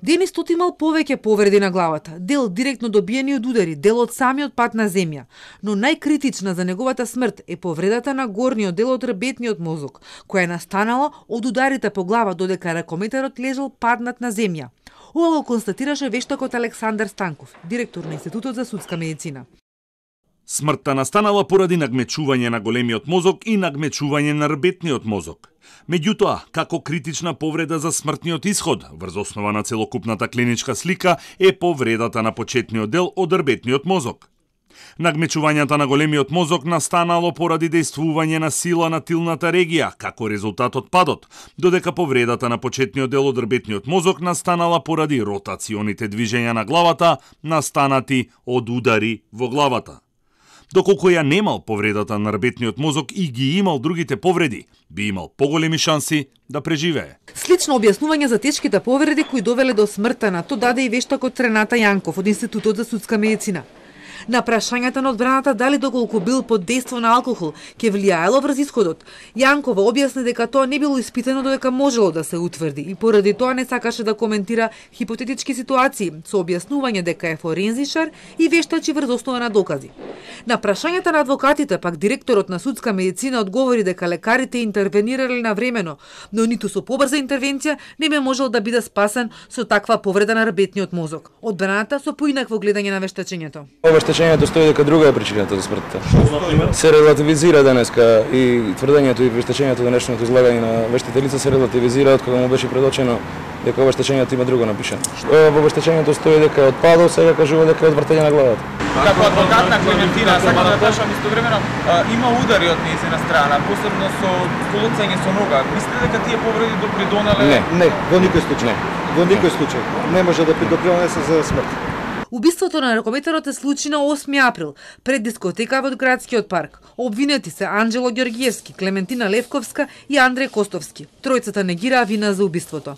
Денис Тот имал повеќе повреди на главата, дел директно добиени од удари, дел од самиот пат на земја. Но најкритична за неговата смрт е повредата на горниот дел од рбетниот мозок, која е настанала од ударите по глава додека ракометарот лежал паднат на земја. Ова го констатираше вештакот Александар Станков, директор на Институтот за судска медицина. Смртта настанала поради нагмечување на големиот мозок и нагмечување на рбетниот мозок. Меѓутоа, како критична повреда за смртниот исход, врз основа на целокупната клиничка слика, е повредата на почетниот дел од рбетниот мозок. Нагмечувањата на големиот мозок настанало поради дејствување на сила на тилната регија, како резултат од падот, додека повредата на почетниот дел од рбетниот мозок настанала поради ротационите движења на главата, настанати од удари во главата. Доколку ја немал повредата на рбетниот мозок и ги имал другите повреди, би имал поголеми шанси да преживее. Слично објаснување за тешките повреди кои довеле до смртта на Тот даде и вештакот Рената Јанков од Институтот за судска медицина. На прашањата на одбраната дали доколку бил под дејство на алкохол ќе влијаело врз исходот, Јанкова објасни дека тоа не било испитано додека можело да се утврди и поради тоа не сакаше да коментира хипотетички ситуации со објаснување дека е форензичар и вештачи врз основа на докази. На прашањата на адвокатите пак директорот на судска медицина одговори дека лекарите интервенирале навремено, но ниту со побрза интервенција не би можел да биде спасен со таква повреда на рбетниот мозок. Одбраната со поинакво гледање на вештачењето. Вештачењето стои дека друга е причината за смртта. Се релативизира денеска и тврдењето и вештачењето денешното излагање на вештителица се релативизира од кога му беше предочено дека вештачењето има друго напишано. Во вештачењето стои дека е од падот, сега кажува дека е од вртење на главата. Како адвокат на Клементина, сакам да прашам истовремено, има удари од нејзина страна, посебно со колуцање со нога. Мислите дека тие повреди допридонеле? Не, во никој случај. Во никој случај не може да допринесе за смрт. Убиството на ракометарот се случи на 8 април, пред дискотека во градскиот парк. Обвинети се Анџело Ѓорѓиевски, Клементина Левковска и Андреј Костовски. Тројцата негираа вина за убиството.